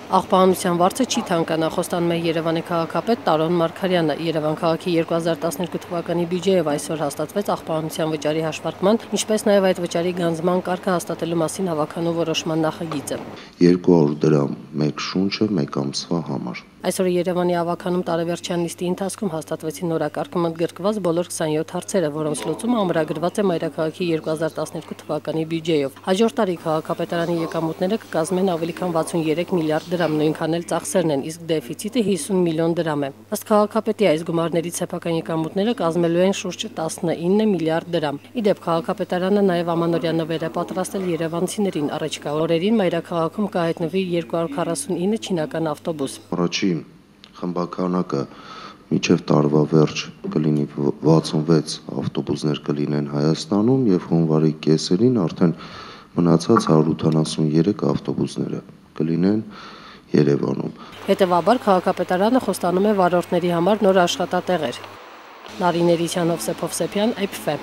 Աղբահանության վարձը չի թանկանա, խոստանում է Երևանի քաղաքապետ Տարոն Մարգարյանը։ Երևան քաղաքի 2012 թվականի բյուջեով այսօր հաստատվեց աղբահանության վճարի հաշվարկման, ինչպես նաև այդ վճարի գանձման կարգը հաստատելու մասին հավաքանու որոշման նախագիծը։ 200 դրամ մեկ շունչը մեկ ամսվա համար։ Այսօր Երևանի ավագանում տարեվերջյան նիստի ընթացքում հաստատվեցին նորակարգում ընդգրկված բոլոր 27 հարցերը, որոնց լուծումը ամրագրված է մայրաքաղաքի 2012 թվականի բյուջեով։ Հաջորդ տարի քաղաքապետարանի եկամուտները կկազմեն ավելի քան 63 միլիարդ դրամ, նույնքան էլ ծախսերն են, իսկ դեֆիցիտը 50 միլիոն դրամ է։ Ըստ քաղաքապետի այս գումարներից սեփական եկամուտները կազմելու են շուրջ 19 միլիարդ դրամ։ Ի դեպ, քաղաքապետարանը նաև ամանորյա նվեր է պատրաստել երևանցիներին։ Առաջիկա օրերին մայրաքաղաքում կհայտնվի 249 չինական ավտոբուս։ Առաջին խմբականակը մինչև տարվա վերջ կլինի 66 ավտոբուսներ կլինեն Հայաստանում եւ հունվարի կեսերին արդեն մնացած 183 ավտոբուսները կլինեն Երևանում։ Հետևաբար քաղաքապետարանը խոստանում է վարորդների համար նոր աշխատատեղեր։ Նարին Էրիսյան, Հովսեփ Հովսեփյան, IPFE։